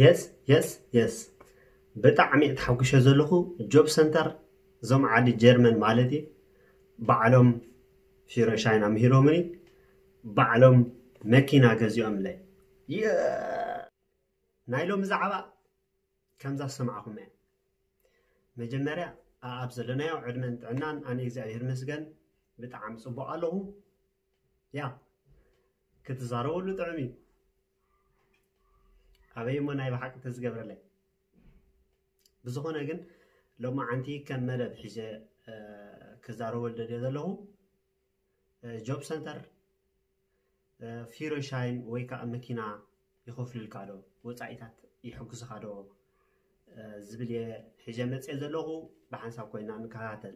የስ የስ የስ ብጣዕሚ ተሓጉሸ ዘለኹ። ጆብ ሰንተር እዞም ዓዲ ጀርመን ማለት እዩ። ባዕሎም ፊሮሻይን ኣምሂሮምኒ፣ ባዕሎም መኪና ገዚኦምለይ። የ- ናይ ሎሚ ዛዕባ ከምዛ ዝሰማዕኹም እያ። መጀመርያ ኣኣብ ዘለናዮ ዕድመን ጥዕናን ኣነ እግዚኣብሔር ይመስገን ብጣዕሚ ጽቡቕ ኣለኹ። ያ ክትዛረበሉ ጥዑም እዩ። ኣበይ እሞ ናይ ብሓቂ ተዝገብረለይ። ብዝኾነ ግን ሎማዓንቲ ከም መደብ ሒዘ ክዛረበሉ ደልየ ዘለኹ ጆብ ሰንተር ፊሮሻይን ወይ ከዓ መኪና ይኸፍሉልካ ዶ፣ ወፃኢታት ይሕግዙኻ ዶ ዝብል እየ ሒዘ መፅየ ዘለኹ። ብሓንሳብ ኮይና ንከታተል።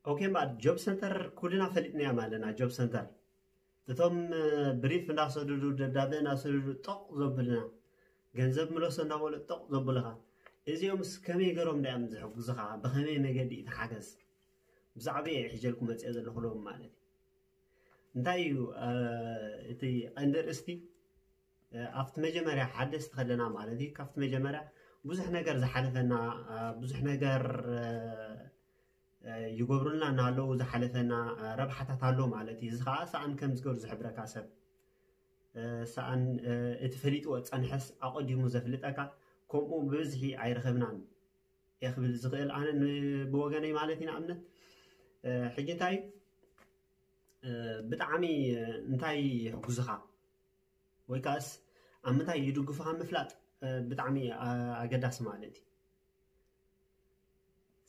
ኦኬ እምበኣር ጆብ ሰንተር ኩልና ፈሊጥናያ ኣለና። ጆብ ሰንተር እቶም ብሪፍ እንዳሰደዱ ደብዳቤ እንዳሰደዱ ጦቕ ዘብልና ገንዘብ ምለሶ እንዳበሉ ጦቕ ዘብልኻ እዚኦምስ ከመይ ገሮም ዳዮም ዝሕግዙኻ? ብኸመይ መገዲ እዩ ተሓገዝ? ብዛዕባ እየ ሒጀልኩ መፅአ ዘለኹ ሎም ማለት እዩ። እንታይ እዩ እቲ ቀንዲ ርእስቲ? ኣብቲ መጀመርያ ሓደስቲ ከለና ማለት እዩ፣ ካብቲ መጀመርያ ብዙሕ ነገር ዝሓለፈና ብዙሕ ነገር ይገብሩልና እናሃለዉ ዝሓለፈና ረብሓታት ኣሎ ማለት እዩ። እዚ ከዓ ሰኣን ከም ዝገብሩ ዝሕብረካ ሰብ ሰኣን እቲ ፈሊጥዎ ፀንሐስ ኣቐዲሙ ዘፍልጠካ ከምኡ ብብዝሒ ኣይረኸብናን እየ ክብል ዝኽእል ኣነ ብወገነይ ማለት እዩ። ንኣብነት ሕጂ እንታይ ብጣዕሚ እንታይ ይሕጉዝኻ ወይ ከዓስ ኣብ ምንታይ ይድግፉኻ ምፍላጥ ብጣዕሚ ኣገዳሲ ማለት እዩ።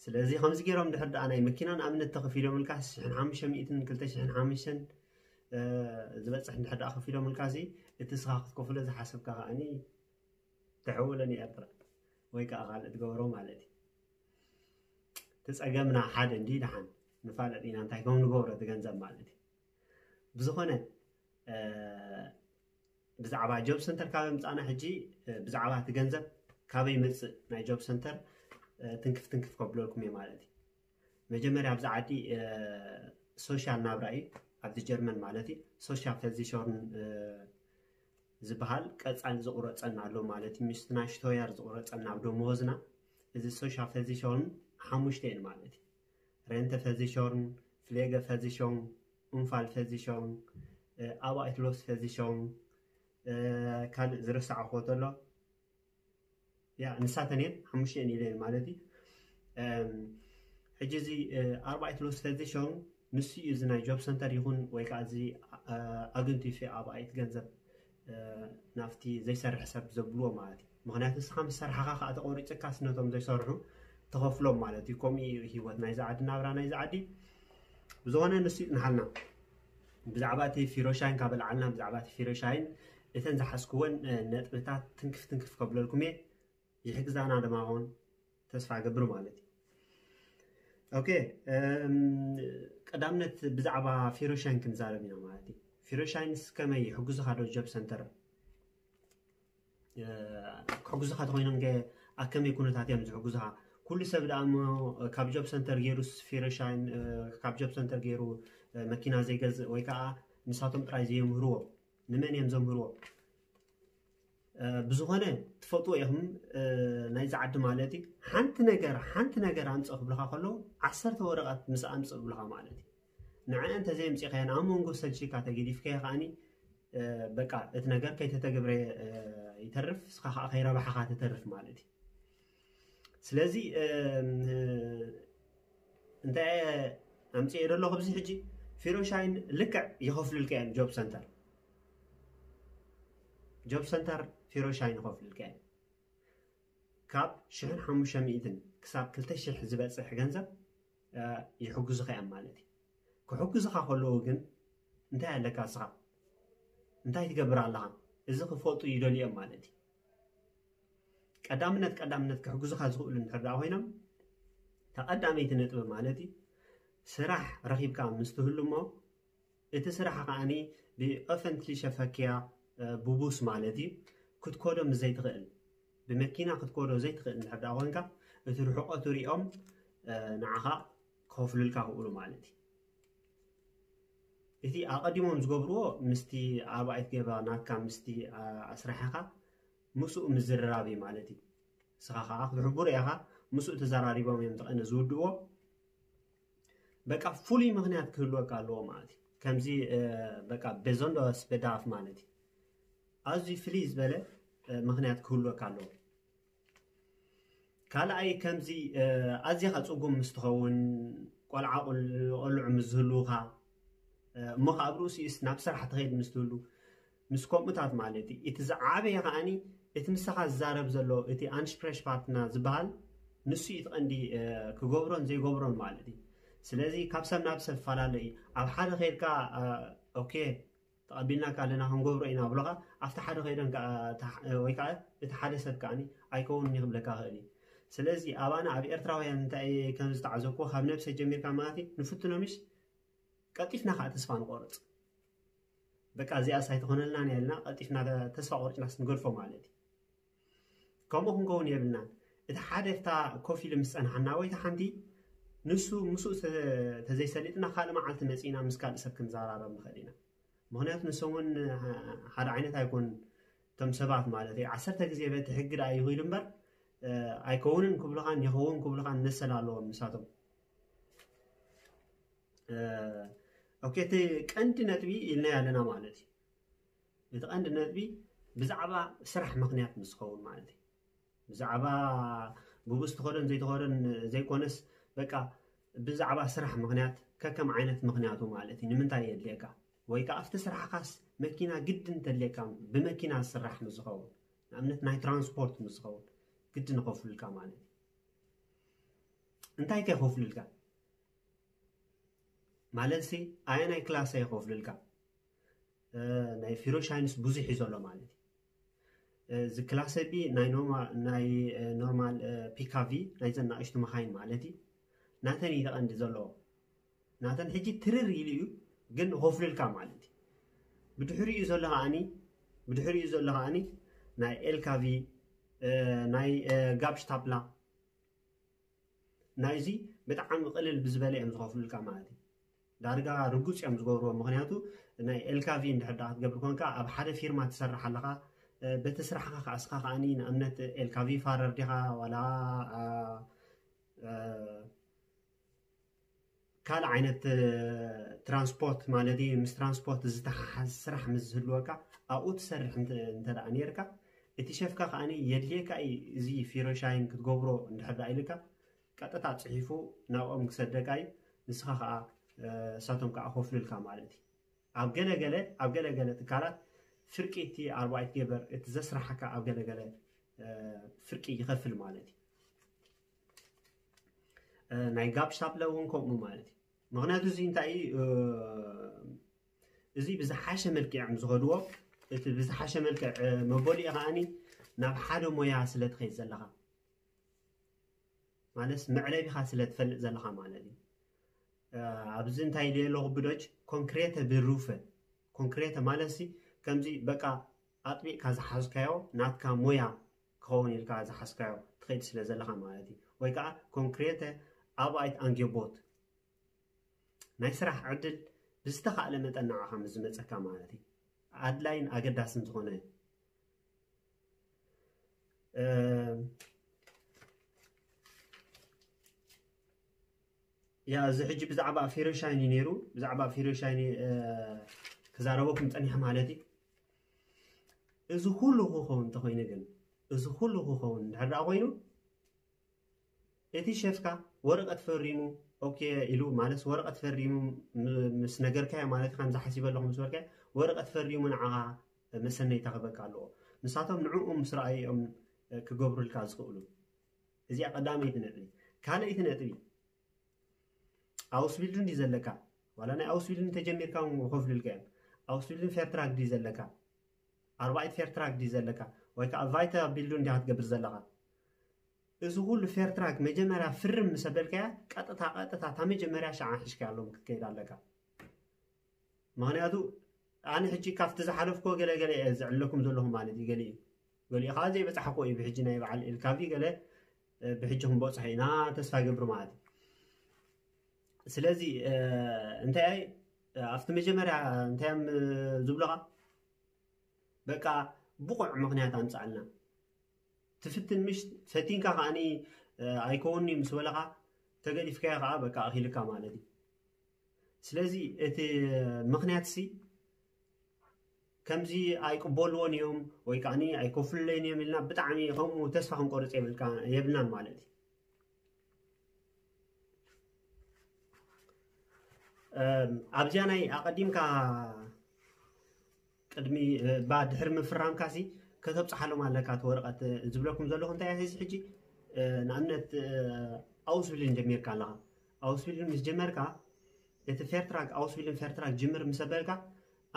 ስለዚ ከምዚ ገይሮም ድሕር ደኣ ናይ መኪና ንኣብነት ተኸፊሎምልካ ሽሕን ሓሙሽተ ሚእትን ክልተ ሽሕን ሓሙሽተን ዝበፅሕ እንድሕር ደኣ ከፊሎምልካ ሲ እቲ ስኻ ክትከፍሎ ዝሓሰብካ ከዓኒ ተሕውሎ ንኤርትራ ወይ ከዓ ካልእ ትገበሮ ማለት እዩ። እቲ ፀገምና ሓደ እንዲ ደሓን ንፋለጥ ኢና እንታይ ከም ንገብሮ እቲ ገንዘብ ማለት እዩ። ብዝኾነ ብዛዕባ ጆብ ሰንተር ካብ ምፃና ሕጂ ብዛዕባ እቲ ገንዘብ ካበይ መፅእ ናይ ጆብ ሰንተር ትንክፍ ትንክፍ ከብለልኩም እየ ማለት እዩ። መጀመርያ ኣብዚ ዓዲ ሶሻል ናብራ እዩ ኣብዚ ጀርመን ማለት እዩ። ሶሻል ቨርሲቸርን ዝበሃል ቀፃሊ ዝቁረፀና ኣሎ ማለት እዩ። ምስቲ ናይ ሽቶያር ዝቁረፀና ኣብ ደመወዝና እዚ ሶሻል ቨርሲቸርን ሓሙሽተ እየን ማለት እዩ። ሬንተ ቨርሲቸርን ፍሌገ ቨርሲቸርን ኡንፋል ቨርሲቸርን ኣባይት ሎስ ቨርሲቸርን ካልእ ዝረሳዕዎ ተሎ ያ ንሳተን እየን ሓሙሽተ እየን ኢለ ማለት እዩ። ሕጂ እዚ ኣርባዕተ ሎስ ቨርሲቸርን ንሱ እዩ እዚ ናይ ጆብ ሰንተር ይኹን ወይ ከዓ እዚ ኣግንቲፊ ኣባይት ገንዘብ ናብቲ ዘይሰርሕ ሰብ ዘብልዎ ማለት እዩ። ምክንያቱ ንስኻ ምስ ሰርሓኻ ከዓ ተቆሪፅካስ ነቶም ዘይሰርሑ ተኸፍሎም ማለት እዩ። ከምኡ እዩ ህይወት ናይዚ ዓዲ ናብራ ናይዚ ዓዲ። ብዝኾነ ንሱ ይፅንሓልና። ብዛዕባ እቲ ፊሮሻይን ካብ ኣልዓልና ብዛዕባ እቲ ፊሮሻይን እተን ዝሓዝክወን ነጥብታት ትንክፍ ትንክፍ ከብለልኩም እየ። ይሕግዛና ድማ ኾን ተስፋ ገብር ማለት እዩ። ኦኬ ቀዳምነት ብዛዕባ ፊሮሻይን ክንዛረብ ኢና ማለት እዩ። ፊሮሻይንስ ከመይ ይሕግዙኻ ዶ ጆብ ሰንተር ክሕግዙኻ ተኮይኖም ከ ኣብ ከመይ ኩነታት እዮም ዝሕግዙኻ? ኩሉ ሰብ ደኣ እሞ ካብ ጆብ ሰንተር ገይሩ ፊሮሻይን ካብ ጆብ ሰንተር ገይሩ መኪና ዘይገዝእ ወይ ከዓ ንሳቶም ጥራይ ዘየምህርዎ ንመን እዮም ዘምህርዎ? ብዝኾነ ትፈልጥዎ ኢኹም ናይዚ ዓዲ ማለት እዩ። ሓንቲ ነገር ሓንቲ ነገር ኣምፅእ ክብልኻ ከለዉ ዓሰርተ ወረቐት ምስ ኣምፅእ ብልኻ ማለት እዩ። ንዐ እንተዘየምፂኻየን ኣብ መንጎ ሰልቺካ ተገዲፍካዮ ከዓኒ በቃ እቲ ነገር ከይተተገብረ ይተርፍ፣ እስኻ ከዓ ከይረባሕኻ ትተርፍ ማለት እዩ። ስለዚ እንታይ ኣምፅኤ ደለኹ ኣብዚ ሕጂ ፊሮሻይን ልክዕ ይኸፍሉልካ እዮም። ጆብ ሰንተር ጆብ ሰንተር ፊሮሻይን ይኸፍሉልካ እዮም። ካብ ሽሕን ሓሙሽተ ሚእትን ክሳብ ክልተ ሽሕ ዝበፅሕ ገንዘብ ይሕግዙኻ እዮም ማለት እዩ። ክሕግዙኻ ከለዉ ግን እንታይ ኣለካ እስኻ እንታይ ትገብር ኣለኻ? እዚ ክፈልጡ ይደልዮም ማለት እዩ። ቀዳምነት ቀዳምነት ክሕግዙኻ ዝኽእሉ እንድሕር ደኣ ኮይኖም ተቐዳመይቲ ነጥቢ ማለት እዩ ስራሕ ረኺብካ ምስ ትህሉ እሞ እቲ ስራሕ ከዓኒ ብኦፈንትሊ ሸፈክያ ብቡስ ማለት እዩ ክትኮዶ ምስ ዘይትኽእል ብመኪና ክትኮዶ ዘይትኽእል እንድሕር ደኣ ኮንካ እቲ ርሕቀቱ ሪኦም ንዓኻ ክኸፍሉልካ ክእሉ ማለት እዩ። እቲ ኣቐዲሞም ዝገብርዎ ምስቲ ኣርባዒት ገባ ናትካ ምስቲ ኣስራሕኻ ምስኡ ምዝርራብ እዩ ማለት እዩ። ንስኻ ከዓ ክትሕቡር ኢኻ፣ ምስኡ ተዘራሪቦም እዮም ተቐነ ዝውድእዎ። በቃ ፍሉይ ምኽንያት ክህልወካ ኣለዎ ማለት እዩ። ከምዚ በቃ በዞንዶ ስበዳፍ ማለት እዩ። ኣዝዩ ፍልይ ዝበለ ምኽንያት ክህልወካ ኣለዎ። ካልኣይ ከምዚ ኣዝኻ ፅጉም ምስ ትኸውን፣ ቆልዓ ቆልዑ ምስ ዝህልውኻ፣ እሞ ካብ ርእሲኡስ ናብ ስራሕ ትኸይድ ምስ ትህሉ፣ ምስ ከምኡታት ማለት እዩ። እቲ ዝዓበየ ከዓኒ እቲ ምሳኻ ዝዛረብ ዘሎ እቲ ኣንሽፕሬሽ ፓርትና ዝበሃል ንሱ እዩ እቲ ቀንዲ ክገብሮን ዘይገብሮን ማለት እዩ። ስለዚ ካብ ሰብ ናብ ሰብ ፈላለ እዩ። ኣብ ሓደ ከይድካ ኦኬ ተቐቢልናካ ኣለና ክንገብሮ ኢና ብሎኻ ኣብቲ ሓደ ከይደን ወይ ከዓ እቲ ሓደ ሰብ ከዓኒ ኣይከውንን ይኽብለካ ኽእል እዩ። ስለዚ ኣባና ኣብ ኤርትራውያን እንታይ ከም ዝተዓዘብኩ ካብ ነብሰ ጀሚርካ ማለት እዩ ንፍትኖምሽ ቀልጢፍና ከዓ ተስፋ ንቆርፅ። በቃ እዚኣስ ኣይትኾነልናን እያ ኢልና ቀልጢፍና ተስፋ ቆርጭናስ ንገድፎ ማለት እዩ። ከምኡ ክንከውን የብልናን። እቲ ሓደ ፍታ ኮፍ ኢሉ ምስ ጸንሓና ወይ እቲ ሓንቲ ንሱ ምስኡ ተዘይሰሊጥና ካልእ መዓልቲ መጺእና ምስ ካልእ ሰብ ክንዘራረብ ንኽእል ኢና። ምኽንያቱ ንሶም እውን ሓደ ዓይነት ኣይኮኑን እቶም ሰባት ማለት እዩ። ዓሰርተ ግዜ በቲ ሕጊ ደኣ ይኽኢሉ እምበር ኣይከውንን ክብሉኻን ይኸውን ክብሉኻን መሰል ኣለዎም ንሳቶም። ኦኬ፣ እቲ ቀንዲ ነጥቢ ኢልናዮ ኣለና ማለት እዩ። እቲ ቀንዲ ነጥቢ ብዛዕባ ስራሕ ምኽንያት ምስ ዝኸውን ማለት እዩ። ብዛዕባ ብብኡ ዝተኸደን ዘይተኸደን ዘይኮነስ በቃ ብዛዕባ ስራሕ ምኽንያት ከከም ዓይነት ምኽንያቱ ማለት እዩ። ንምንታይ የድልየካ ወይ ከዓ ኣብቲ ስራሕኻስ መኪና ግድን ተድልየካ ብመኪና ዝስራሕ ምስ ዝኸውን ንኣብነት ናይ ትራንስፖርት ምስ ዝኸውን ግድን ይኸፍሉልካ ማለት እዩ። እንታይ ከ ይኸፍሉልካ? ማለት ሲ ኣየናይ ክላሰ ይኸፍሉልካ? ናይ ፊሮሻይንስ ብዙሕ እዩ ዘሎ ማለት እዩ። እዚ ክላሰ ቢ ናይ ኖርማል ፒካቪ ናይ ዘናእሽቱ መኻይን ማለት እዩ። ናተን እዩ ተቐንዲ ዘለዎ። ናተን ሕጂ ትርር ኢሉ እዩ ግን ኸፍልልካ ማለት እዩ። ብድሕሪኡ ዘሎ ከዓኒ ብድሕሪኡ ዘሎ ከዓኒ ናይ ኤልካቪ ናይ ጋብሽታፕላ ናይዚ ብጣዕሚ ቅልል ብዝበለ እዮም ዝኸፍሉልካ ማለት እዩ። ዳርጋ ርጉፅ እዮም ዝገብርዎ። ምክንያቱ ናይ ኤልካቪ እንድሕር ዳ ክትገብር ኮንካ ኣብ ሓደ ፊርማ ትሰርሕ ኣለኻ። በቲ ስራሕካ ከኣስኻ ከዓኒ ንኣብነት ኤልካቪ ፋረር ዲኻ ዋላ ካልእ ዓይነት ትራንስፖርት ማለት እዩ ምስ ትራንስፖርት ዝተሓሓዝ ስራሕ ምስ ዝህልወካ ኣብኡ ትሰርሕ እንተ ደኣ ነርካ እቲ ሸፍካ ከዓኒ የድልየካ እዩ እዚ ፊሮሻይን ክትገብሮ እንድሕር ደኣ ኢልካ ቀጥታ ፅሒፉ ናብኦም ክሰደካ እዩ። ንስኻ ከዓ እሳቶም ከዓ ከፍሉልካ ማለት እዩ። ኣብ ገለገለ ኣብ ገለገለ ትካላት ፍርቂ እቲ ኣርባዒት ገበር እቲ ዘስራሓካ ኣብ ገለገለ ፍርቂ ይኸፍል ማለት እዩ። ናይ ጋብ ስታፕለ እውን ከምኡ ማለት እዩ። ምክንያቱ እዚ እንታይ እዩ እዚ ብዝሓሸ መልክዕ እዮም ዝኸድዎ። እቲ ብዝሓሸ መልክዕ መበሊኡ ከዓኒ ናብ ሓደ ሞያ ስለ ትኸይድ ዘለኻ ማለት መዕለቢኻ ስለ ትፈልጥ ዘለኻ ማለት እዩ። ኣብዚ እንታይ ኢለ ኣለኹ ብዶች ኮንክሬተ ብሩፈ ኮንክሬተ ማለት ሲ ከምዚ በቃ ኣጥቢቕካ ዝሓዝካዮ ናትካ ሞያ ክኸውን ኢልካ ዝሓዝካዮ ትኸይድ ስለ ዘለኻ ማለት እዩ። ወይ ከዓ ኮንክሬተ ኣባይት ኣንጌቦት ናይ ስራሕ ዕድል ብዝተኻእለ መጠን ንዓኻ ምስ ዝመፀካ ማለት እዩ ኣድላይን ኣገዳስን ዝኾነ ያ እዚ ሕጂ ብዛዕባ ፊሮሻይኒ ነይሩ ብዛዕባ ፊሮሻይኒ ክዛረበኩም ፀኒሐ ማለት እዩ። እዚ ኩሉ ክኸውን እንተኮይኑ ግን እዚ ኩሉ ክኸውን እንድሕር ደኣ ኮይኑ እቲ ሸፍካ ወረቀት ፈሪሙ ኦኬ ኢሉ ማለት ወረቀት ፈሪሙ ምስ ነገርካዮ ማለት ከምዚ ሓሲበ ኣለኹ ምስ በልካዮ ወረቀት ፈሪሙ ንዓኻ መሰነይታ ክበካ ኣለዎ። ንሳቶም ንዕኡ ምስ ረኣዩ እዮም ክገብሩልካ ዝኽእሉ። እዚኣ ቀዳመይቲ ነጥቢ። ካልኣይቲ ነጥቢ ኣውስቢልዱ እንዲ ዘለካ ዋላ ናይ ኣውስቢልዱ እንተጀሚርካ ከፍሉልካ እዮም። ኣውስቢልዱ ፌርትራክ ድዩ ዘለካ ኣርባዒት ፌርትራክ ድዩ ዘለካ ወይ ከዓ ቫይታ ቢልዱ እንዲያ ክትገብር ዘለካ እዚ ኩሉ ፌርትራክ መጀመርያ ፍርም ምስ ኣበልካያ ቀጥታ ቀጥታ እታ መጀመርያ ሸዓ ሒዝካያሎም ክትከይድ ኣለካ። ምክንያቱ ኣነ ሕጂ ካብቲ ዝሓለፍኮ ገለገለ እየ ዝዕለኩም ዘለኹ ማለት እዩ። ገሊኡ ገሊኡ ከዓ ዘይበፃሕኮ እዩ ብሕጂ ናይ በዓል ኤልካቪ ገለ ብሕጂ ክንበፅሖ ኢና ተስፋ ይገብር ማለት እዩ። ስለዚ እንታይ ኣብቲ መጀመርያ እንታይ እዮም ዝብሉኻ? በቃ ብቑዕ ምኽንያት ኣምፃልና። ትፍትን ምሽ ፈቲንካ ከዓኒ ኣይከውንኒ ምስ በለኻ፣ ተገዲፍካዮ ከዓ በቃ ኣኺልካ ማለት እዩ። ስለዚ እቲ ምኽንያት ሲ ከምዚ ኣይቅበልዎን እዮም ወይ ከዓኒ ኣይከፍሉለይን እዮም ኢልና ብጣዕሚ ከምኡ ተስፋ ክንቆርፅ የብልናን ማለት እዩ። ኣብዚኣ ናይ ኣቐዲምካ ቅድሚ ባ ድሕሪ ምፍራምካ ሲ ከተብፅሓሎም ኣለካ እቲ ወረቐት። ዝብለኩም ዘለኹ እንታይ እዚ ሕጂ ንኣብነት ኣውስብልን ጀሚርካ ኣለኻ። ኣውስብልን ምስ ጀመርካ እቲ ፌርትራክ ኣውስብልን ፌርትራክ ጅምር ምስ ኣበልካ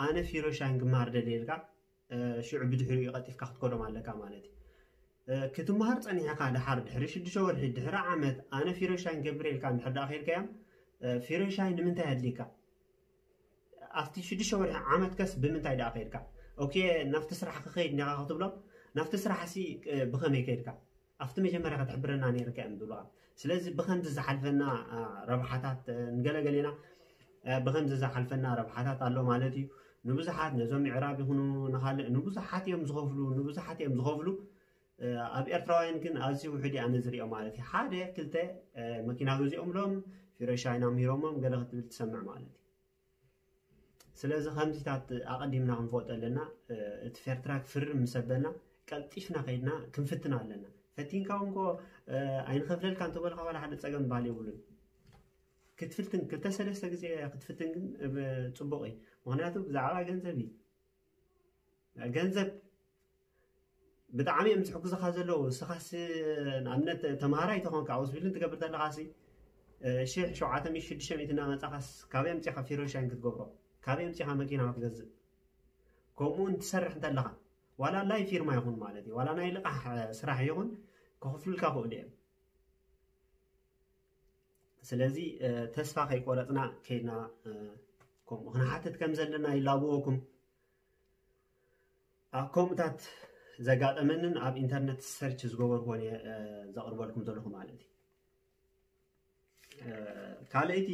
ኣነ ፊሮሻይን ክመሃር ደልየ ኢልካ ሽዑ ብድሕሪኡ ቀልጢፍካ ክትከዶም ኣለካ ማለት እዩ። ክትመሃር ፀኒሕካ ድሓር ድሕሪ ሽዱሽተ ወርሒ ድሕሪ ዓመት ኣነ ፊሮሻይን ገብረ ኢልካ እንድሕር ደኣ ከይድካዮም ፊሮሻይን ንምንታይ ኣድልይካ? ኣብቲ ሽዱሽተ ወርሒ ዓመት ከስ ብምንታይ ደኣ ከይድካ? ኦኬ ናብቲ ስራሕ ክኸይድ ኒኻ ክትብሎም ናብቲ ስራሕ ሲ ብኸመይ ከይድካ? ኣብቲ መጀመርያ ክትሕብረና ነይርካ እዮም ዝብሉካ። ስለዚ ብኸምዚ ዝሓልፈና ረብሓታት ንገለገሌና ብኸምዚ ዝሓልፈና ረብሓታት ኣሎ ማለት እዩ። ንብዙሓት ነዞም ምዕራብ ይኹኑ ንኻልእ ንብዙሓት እዮም ዝኸፍሉ ንብዙሓት እዮም ዝኸፍሉ። ኣብ ኤርትራውያን ግን ኣዝዩ ውሕድ ኣነ ዝሪኦ ማለት እዩ። ሓደ ክልተ መኪና ገዚኦምሎም ፊረሻይና ምሂሮሞም ገለ ክትብል ትሰምዕ ማለት እዩ። ስለዚ ከምዚታት ኣቐዲምና ክንፈልጦ ኣለና። እቲ ፌርትራ ክፍርም ምስ ኣበልና ቀልጢፍና ከይድና ክንፍትና ኣለና። ፈቲንካ እውን ኮ ኣይንኸፍለልካ እንተበልካ ዋላ ሓደ ፀገም ባል የብሉን። ክትፍትን ክልተ ሰለስተ ግዜ ክትፍትን ግን ጽቡቕ እዩ። ምክንያቱ ብዛዕባ ገንዘብ እዩ። ገንዘብ ብጣዕሚ እዮም ዝሕግዙኻ ዘለዉ። ንስኻስ ንኣብነት ተምሃራይ ተኾንካ ኣውስቢልን ትገብር ዘለኻሲ ሽሕ ሸውዓተ ሚእቲ ሽዱሽተ ሚእቲ እናመጻኻስ ካበይ ኣምጺኻ ፊሮሻይን ክትገብሮ? ካበይ ኣምጺኻ መኪና ክትገዝእ? ከምኡ እውን ትሰርሕ እንተለኻ ዋላ ናይ ፊርማ ይኹን ማለት እዩ ዋላ ናይ ልቓሕ ስራሕ ይኹን ክኽፍሉልካ ክእሉ እዮም። ስለዚ ተስፋ ከይቆረፅና ከይድና ከምኡ ክንሓትት ከም ዘለና ይላብወኩም። ኣብ ከምኡታት ዘጋጠመንን ኣብ ኢንተርነት ሰርች ዝገበርኩን እየ ዘቕርበልኩም ዘለኹ ማለት እዩ። ካልኣይቲ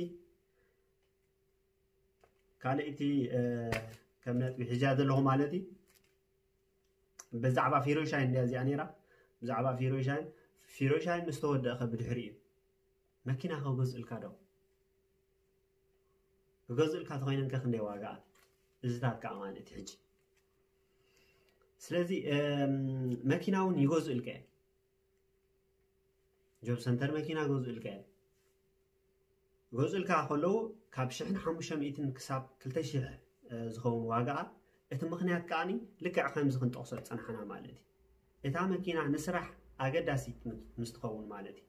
ካልኣይቲ ከም ነጥቢ ሒዛ ዘለኹ ማለት እዩ። ብዛዕባ ፊሮሻይን እንዲያ እዚኣ ነይራ። ብዛዕባ ፊሮሻይን ፊሮሻይን ምስ ተወደእኸ ብድሕሪ እዩ መኪና ከገዝእልካ ዶ? ክገዝእልካ ተኮይነን ከ ክንደይ ዋጋኣ? እዚታት ከዓ ማለት እዩ ሕጂ። ስለዚ መኪና እውን ይገዝእልካ እየ። ጆብ ሰንተር መኪና ገዝእልካ እየ። ገዝእልካ ከለዉ ካብ ሽሕን ሓሙሽተ ሚእትን ክሳብ ክልተ ሽሕ ዝኸውን ዋጋኣ እቲ ምኽንያት ከዓኒ ልክዕ ከምዚ ክንጠቕሶ ዝፀናሕና ማለት እዩ። እታ መኪና ንስራሕ ኣገዳሲት ምስ ትኸውን ማለት እዩ።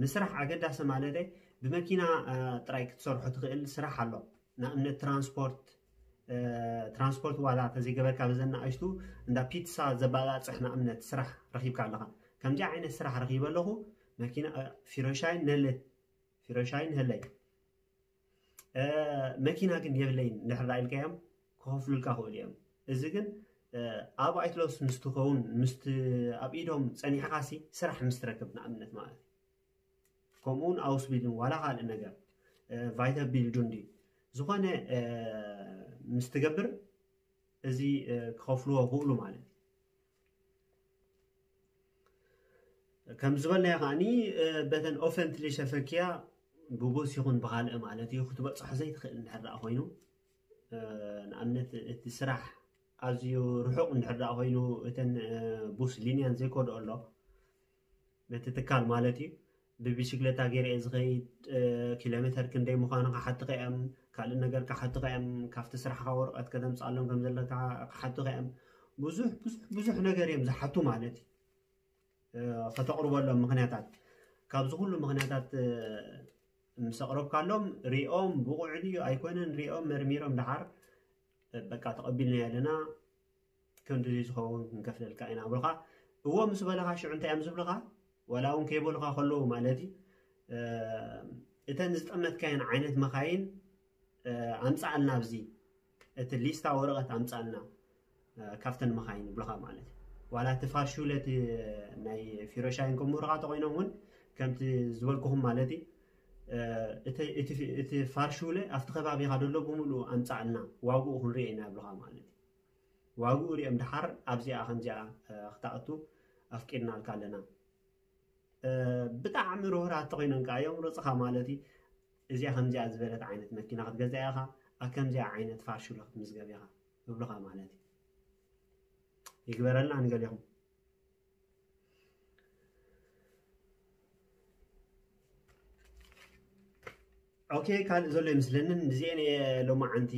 ንስራሕ ኣገዳሲ ማለት ብመኪና ጥራይ ክትሰርሖ ትኽእል ስራሕ ኣሎ። ንኣብነት ትራንስፖርት ትራንስፖርት ዋላ ተዘይገበርካ በዘን ንኣሽቱ እንዳ ፒትሳ ዘባላፅሕ ንኣብነት ስራሕ ረኺብካ ኣለኻ። ከምዚ ዓይነት ስራሕ ረኺበ ኣለኹ መኪና ፊሮሻይን ነለት ፊሮሻይን ህለይ መኪና ግን የብለይን እንድሕር ኢልካዮም ክኸፍሉልካ ክእሉ እዮም። እዚ ግን ኣብ ኣይትለስ ምስ ትኸውን ምስ ኣብ ኢዶም ፀኒሕኻሲ ስራሕ ምስ ትረክብ ንኣብነት ማለት እዩ። ከምኡውን ኣውስቢልን ዋላ ካልእ ነገር ቫይተ ቢልዱን ድዩ ዝኾነ ምስ ትገብር እዚ ክኸፍልዎ ክእሉ ማለት እዩ። ከም ዝበልናዮ ከዓኒ በተን ኦፈንትሊ ሸፈኪያ ብቡስ ይኹን ብኻልእ ማለት እዩ ክትበፅሖ ዘይትኽእል እንድሕር ደኣ ኮይኑ ንኣብነት እቲ ስራሕ ኣዝዩ ርሑቕ እንድሕር ደኣ ኮይኑ እተን ቡስ ሊንያን ዘይኮድኦ ኣሎ ነቲ ትካል ማለት እዩ። ብቢሽክለታ ገይረ እየ ዝኸይድ። ኪሎ ሜተር ክንደይ ምዃኑ ክሓቱኻ እዮም። ካልእ ነገር ክሓቱኻ እዮም። ካብቲ ስራሕኻ ወረቐት ከተምፅኣሎም ከም ዘለካ ክሓቱኻ እዮም። ብዙሕ ብዙሕ ብዙሕ ነገር እዮም ዝሓቱ ማለት እዩ። ከተቕርበሎም ምኽንያታት ካብዚ ኩሉ ምኽንያታት ምስ ኣቕረብካሎም ሪኦም ብቑዕ ድዩ ኣይኮነን ሪኦም መርሚሮም ደሓር በቃ ተቐቢልናዮ ኣለና። ክንዲ ዝኸውን ክንከፍለልካ ኢና ብልካ እዎ ምስ በለኻ ሽዑ እንታይ እዮም ዝብልኻ? ዋላ እውን ከይበሉኻ ከለዉ ማለት እዩ እተን ዝጠመትካየን ዓይነት መኻይን ኣምፃኣልና ኣብዚ እቲ ሊስታ ወረቐት ኣምፃኣልና ካብተን መኻይን ይብልኻ ማለት እዩ። ዋላ እቲ ፋርሹለ እቲ ናይ ፊሮሻይን ከምህሩኻ ተኮይኖም እውን ከምቲ ዝበልኩኹም ማለት እዩ እቲ ፋርሹለ ኣብቲ ከባቢኻ ደሎ ብምሉእ ኣምፃእልና፣ ዋግኡ ክንሪኦ ኢና ይብልኻ ማለት እዩ። ዋግኡ ሪኦም ድሓር ኣብዚኣ ከምዚኣ ክትኣቱ ኣፍቂድናልካ ኣለና። ብጣዕሚ ርህራት ተኮይኖም ከዓ እዮም ርፅኻ ማለት እዩ። እዚኣ ከምዚኣ ዝበለት ዓይነት መኪና ክትገዛ ኢኻ፣ ኣብ ከምዚኣ ዓይነት ፋርሹለ ክትምዝገብ ኢኻ ይብሉኻ ማለት እዩ። ይግበረልና ንገሊኹም። ኦኬ፣ ካልእ ዘሎ ይመስለንን። እዚአን እየ ሎማዓንቲ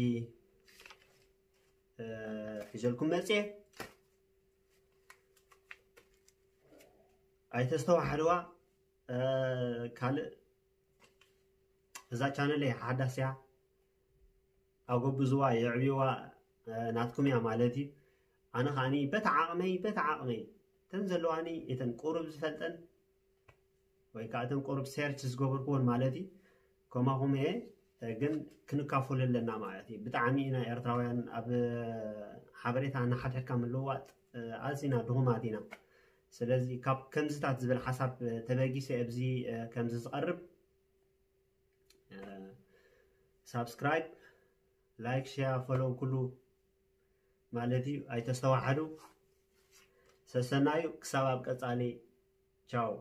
ሒዘልኩም መፅየ። ኣይተስተዋሕድዋ። ካልእ እዛ ቻነል እየ ሓዳስ እያ። ኣጎብዝዋ፣ የዕብዋ፣ ናትኩም እያ ማለት እዩ። ኣነ ከዓኒ በታ ዓቕመይ በታ ዓቕመይ እተን ዘለዋኒ እተን ቁሩብ ዝፈልጠን ወይ ከዓ እተን ቁሩብ ሴርች ዝገበርክዎን ማለት እዩ። ከማኹም እየ ግን ክንካፈሉ ኣለና ማለት እዩ። ብጣዕሚ ኢና ኤርትራውያን ኣብ ሓበሬታ እናሓድሕድካ ምልውዋጥ ኣዝና ድኹማት ኢና። ስለዚ ካብ ከምዚታት ዝብል ሓሳብ ተበጊሰ ኣብዚ ከምዚ ዝቐርብ ሳብስክራይብ፣ ላይክ፣ ሼር፣ ፎሎው ኩሉ ማለት እዩ። ኣይተስተዋሓዱ። ሰሰናዩ ክሳብ ኣብ ቀጻሊ። ቻው።